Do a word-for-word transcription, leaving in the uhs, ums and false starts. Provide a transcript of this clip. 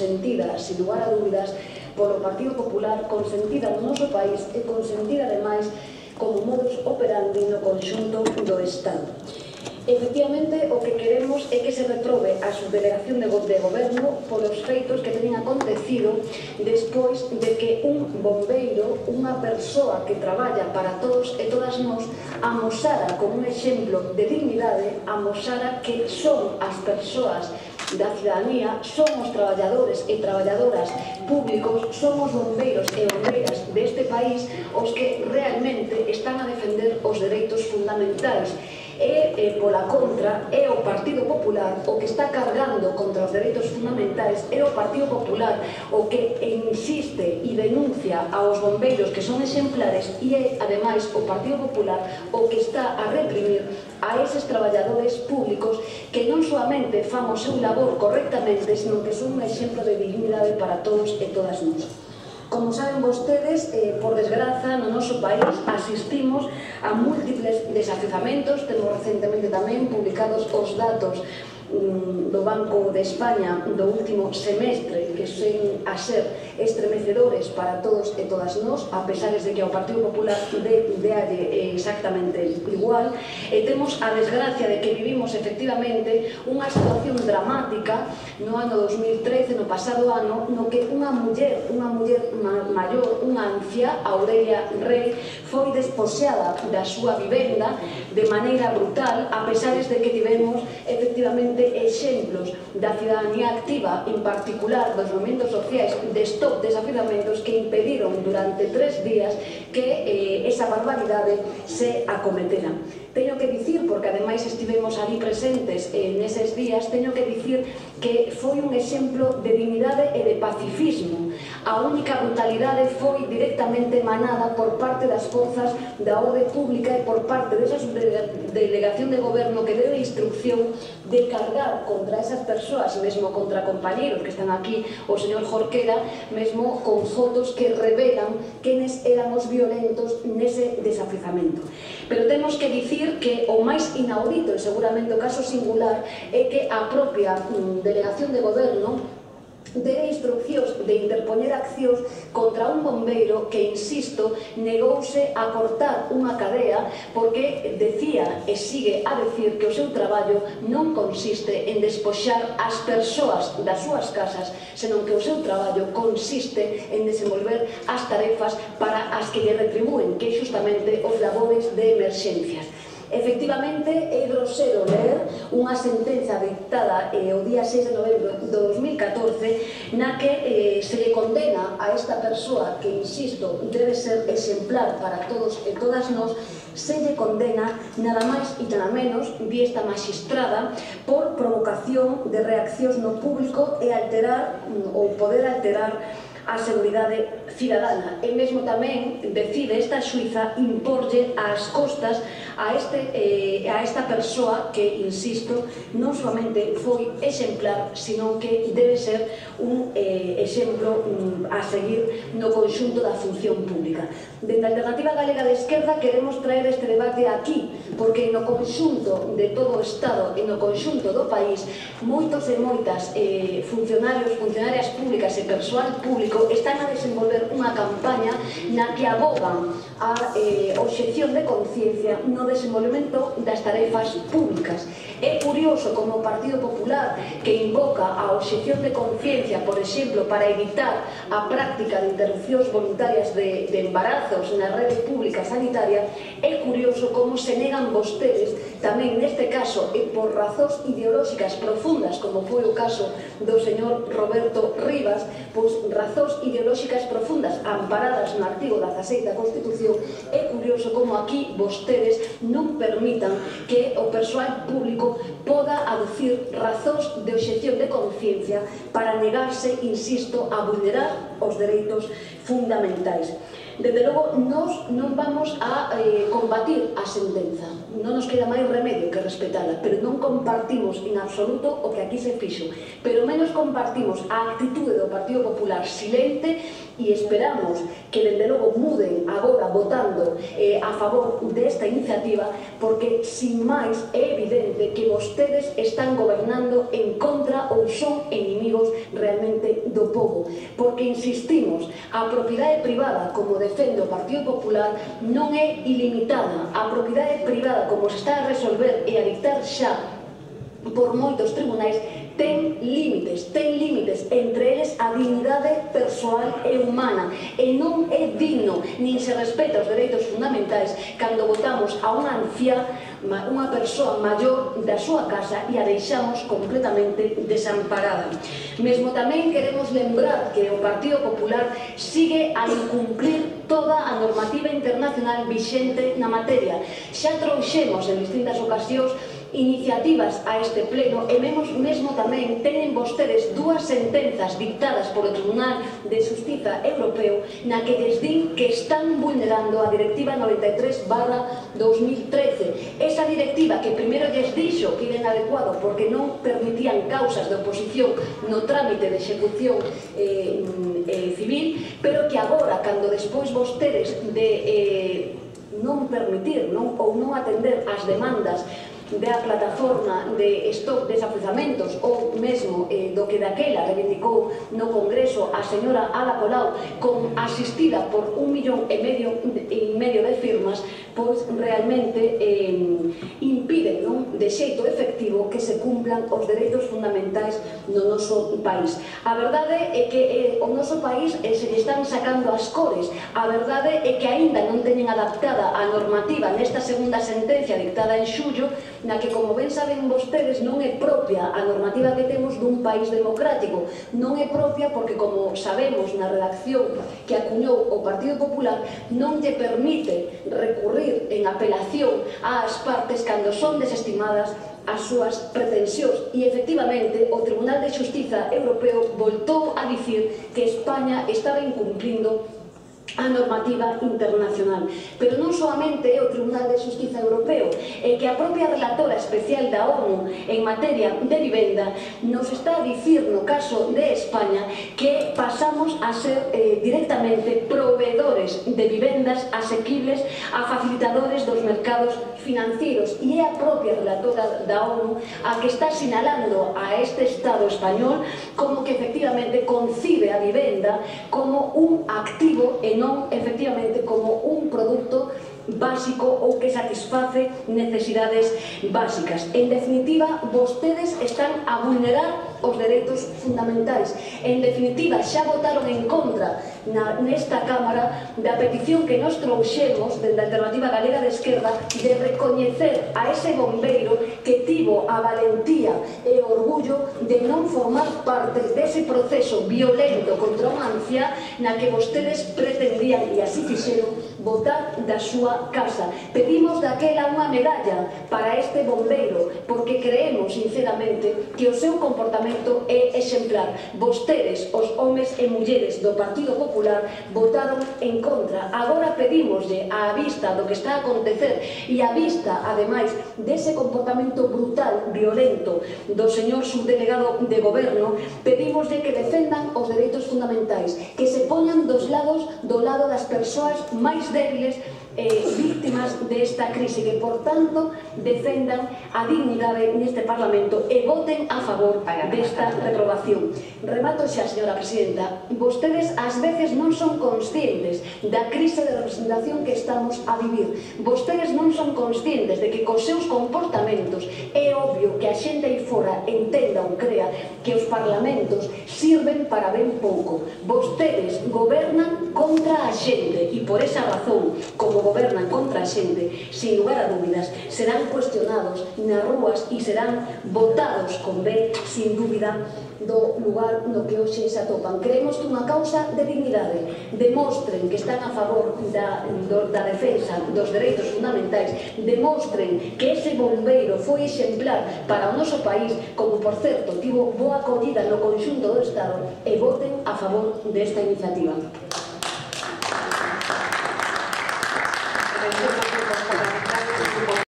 consentida, sin lugar a dúbidas, polo Partido Popular, consentida no noso país e consentida, ademais, como modus operandi no conxunto do Estado. Efectivamente, o que queremos é que se reprobe a subdelegación de goberno polos feitos que teñen acontecido despois de que un bombeiro, unha persoa que traballa para todos e todas nós, amosara como un exemplo de dignidade, amosara que son as persoas da cidadanía, son os traballadores e traballadoras públicos, son os bombeiros e bombeiras deste país os que realmente están a defender os dereitos fundamentais. E, e pola contra, é o Partido Popular o que está cargando contra os dereitos fundamentais, é o Partido Popular o que insiste e denuncia aos bombeiros que son exemplares e é, ademais, o Partido Popular o que está a reprimir a eses traballadores públicos que non solamente fan o seu labor correctamente, senón que son un exemplo de dignidade para todos e todas nós. Como saben vostedes, eh, por desgraza, no noso país asistimos a múltiples desafizamentos. Temos recentemente tamén publicados os datos um, do Banco de España do último semestre, que sen a ser estremecedores para todos e todas nós, a pesar de que ao Partido Popular de, de alle exactamente igual, e temos a desgracia de que vivimos efectivamente unha situación dramática no ano dos mil trece, no pasado ano, no que unha muller, unha muller ma maior, unha anciá, Aurelia Rey, foi desposeada da súa vivenda de maneira brutal, a pesar de que tivemos efectivamente exemplos da cidadanía activa, en particular dos movimentos sociais de stop desafizamentos, que impediron durante tres días que eh, esa barbaridade se acometera. Teño que dicir, porque ademais estivemos ali presentes eh, neses días, teño que dicir que foi un exemplo de dignidade e de pacifismo. A única brutalidade foi directamente emanada por parte das forzas da orde pública e por parte desa delegación de goberno que deu instrucción de cargar contra esas persoas, mesmo contra compañeros que están aquí, o señor Jorquera, mesmo con fotos que revelan quenes eran os violentos nese desafizamento. Pero temos que dicir que o máis inaudito, e seguramente o caso singular, é que a propia delegación de goberno debe instruccións de interpoñer accións contra un bombeiro que, insisto, negouse a cortar unha cadea porque decía e sigue a decir que o seu traballo non consiste en despoxar as persoas das súas casas, senón que o seu traballo consiste en desenvolver as tarefas para as que lle retribúen, que é justamente os labores de emerxencias. Efectivamente, é grosero ler unha sentenza dictada eh, o día seis de novembro de dos mil catorce na que eh, se le condena a esta persoa que, insisto, debe ser exemplar para todos e todas nós, se lle condena nada máis e nada menos, vi esta magistrada, por provocación de reaccións no público e alterar ou poder alterar a seguridade cidadana. E mesmo tamén decide esta xuíza imporlle ás costas a, este, eh, a esta persoa que, insisto, non solamente foi exemplar, sino que debe ser un eh, exemplo um, a seguir no conxunto da función pública. Dende a Alternativa Galega de Esquerda queremos traer este debate aquí, porque no conxunto de todo o Estado e no conxunto do país, moitos e moitas eh, funcionarios, funcionarias públicas e persoal público están a desenvolver unha campaña na que abogan a eh, obxección de conciencia no desenvolvemento das tarefas públicas. É curioso como o Partido Popular, que invoca a obxección de conciencia, por exemplo, para evitar a práctica de interrupcións voluntarias de, de embarazos na rede pública sanitaria, é curioso como se negan vostedes, tamén neste caso, e por razóns ideolóxicas profundas, como foi o caso do señor Roberto Rivas, pois razóns ideolóxicas profundas amparadas no artigo dieciséis da Constitución, é curioso como aquí vostedes non permitan que o persoal público poda aducir razóns de obxección de conciencia para negarse, insisto, a vulnerar os dereitos fundamentais. Dende logo, nós non vamos a eh, combatir a sentenza, non nos queda máis remedio que respetala, pero non compartimos en absoluto o que aquí se fixo, pero menos compartimos a actitude do Partido Popular silente e esperamos que dende logo muden agora votando eh, a favor desta iniciativa, porque sin máis é evidente que vostedes están gobernando en contra ou son enemigos realmente do povo, porque insistimos, a propiedade privada, como defende o Partido Popular, non é ilimitada. A propiedade privada, como se está a resolver e a dictar xa por moitos tribunais, ten límites, ten límites, entre eles a dignidade persoal e humana, e non é digno, nin se respeta os dereitos fundamentais cando votamos a unha anciá, unha persoa maior da súa casa e a deixamos completamente desamparada. Mesmo tamén queremos lembrar que o Partido Popular sigue a incumplir toda a normativa internacional vixente na materia. Xa trouxemos en distintas ocasións iniciativas a este pleno e mesmo tamén tenen vostedes dúas sentenzas dictadas polo Tribunal de Xustiza Europeo na que lles din que están vulnerando a Directiva noventa e tres barra dos mil trece. Esa directiva que primeiro lles dixo que era inadecuado porque non permitían causas de oposición no trámite de execución eh, eh, civil, pero que agora, cando despois vostedes de eh, non permitir non, ou non atender as demandas da plataforma de stop desafiuzamentos ou mesmo eh, do que daquela reivindicou no Congreso a señora Ada Colau, con asistida por un millón e medio, e medio de firmas, pois realmente eh, impiden non, de xeito efectivo que se cumplan os dereitos fundamentais no noso país. A verdade é que eh, o noso país eh, se lle están sacando as cores. A verdade é que aínda non teñen adaptada a normativa nesta segunda sentencia dictada en xullo, na que, como ben saben vostedes, non é propia a normativa que temos dun país democrático. Non é propia porque, como sabemos na redacción que acuñou o Partido Popular, non lle permite recurrir en apelación ás partes cando son desestimadas as súas pretensións. E, efectivamente, o Tribunal de Xustiza Europeo voltou a dicir que España estaba incumplindo a normativa internacional. Pero non solamente é o Tribunal de Xustiza Europeo, é que a propia relatora especial da ONU en materia de vivenda nos está a dicir no caso de España que pasamos a ser eh, directamente proveedores de vivendas asequibles a facilitadores dos mercados financieros, e é a propia relatora da ONU a que está sinalando a este Estado español como que efectivamente concibe a vivenda como un activo e non efectivamente como un produto básico ou que satisface necesidades básicas. En definitiva, vostedes están a vulnerar os dereitos fundamentais. En definitiva, xa votaron en contra na, nesta Cámara da petición que nos trouxemos dende a Alternativa Galega de Esquerda de recoñecer a ese bombeiro que tivo a valentía e o orgullo de non formar parte dese proceso violento contra unha anciá na que vostedes pretendían, e así fixeron, votar da súa casa. Pedimos daquela unha medalla para este bombeiro porque creemos sinceramente que o seu comportamento é exemplar. Vostedes, os homes e mulleres do Partido Popular, votaron en contra. Agora pedímoslle, á vista do que está a acontecer e á vista, ademais, dese comportamento brutal, violento do señor subdelegado de Goberno, pedímoslle que defendan os dereitos fundamentais, que se poñan dos lados do lado das persoas máis débiles eh, víctimas desta crise, que, por tanto, defendan a dignidade neste Parlamento e voten a favor desta reprobación. Remato xa, señora Presidenta. Vostedes, ás veces, non son conscientes da crise de representación que estamos a vivir. Vostedes non son conscientes de que cos seus comportamentos é obvio que a xente aí fora entenda ou crea que os parlamentos sirven para ben pouco. Vostedes gobernan contra a xente e, por esa razón, como gobernan contra a xente, sin lugar a dúbidas, serán cuestionados nas rúas e serán votados con ben, sin dúbida, do lugar no que hoxe se atopan. Creemos que unha causa de dignidade. Demostren que están a favor da, do, da defensa dos dereitos fundamentais. Demostren que ese bombeiro foi exemplar para o noso país, como, por certo, tivo boa acollida no conxunto do Estado, e voten a favor desta iniciativa. Gracias.